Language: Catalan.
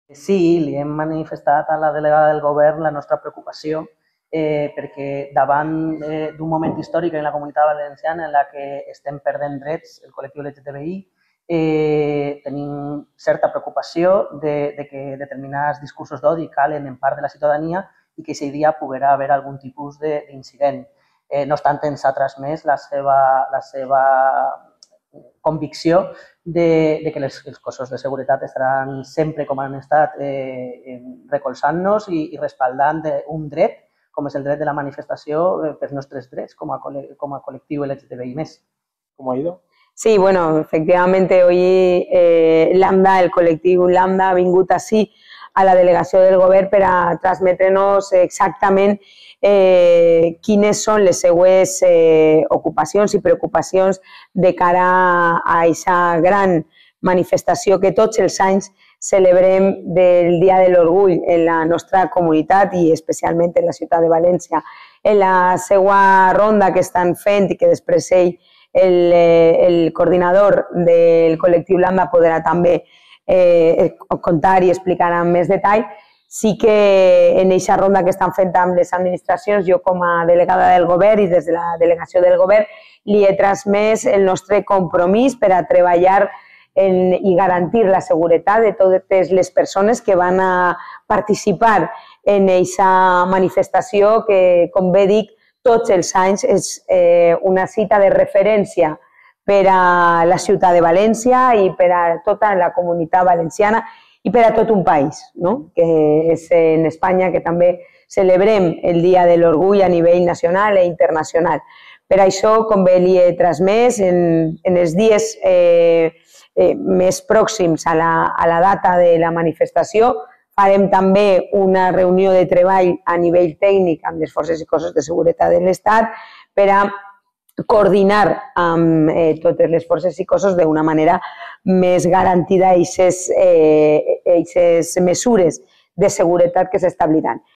Sí, li hem manifestat a la delegada del govern la nostra preocupació perquè davant d'un moment històric en la Comunitat Valenciana en la que estem perdent drets, el col·lectiu LGTBI, tenim certa preocupació de que determinats discursos d'odi calen en part de la ciutadania i que aquest dia poguerà haver algun tipus d'incident. No obstant, ens ha transmès la seva convicció de que els cossos de seguretat estaran sempre com han estat recolzant-nos i respaldant un dret, com és el dret de la manifestació, pels nostres drets com a col·lectiu LGTBI+. ¿Cómo ha ido? Sí, bueno, efectivamente hoy Lambda, el col·lectiu Lambda, ha vingut així a la delegació del govern per a transmetre-nos exactament quines són les seues ocupacions i preocupacions de cara a aquesta gran manifestació que tots els anys celebrem del Dia de l'Orgull en la nostra comunitat i especialment en la ciutat de València. En la seva ronda que estan fent i que després el coordinador del col·lectiu Lambda podrà també contar i explicar amb més detall, sí que en aquesta ronda que estan fent amb les administracions, jo com a delegada del govern i des de la delegació del govern li he transmès el nostre compromís per a treballar i garantir la seguretat de totes les persones que van a participar en aquesta manifestació que, com bé dic, tots els anys és una cita de referència per a la ciutat de València i per a tota la comunitat valenciana i per a tot un país, que és en Espanya que també celebrem el Dia de l'Orgull a nivell nacional i internacional. Per això, com bé li he transmès, en els dies més pròxims a la data de la manifestació, farem també una reunió de treball a nivell tècnic amb les forces i cossos de seguretat de l'Estat per a coordinar amb totes les forces i cossos d'una manera més garantida aquestes mesures de seguretat que s'establiran.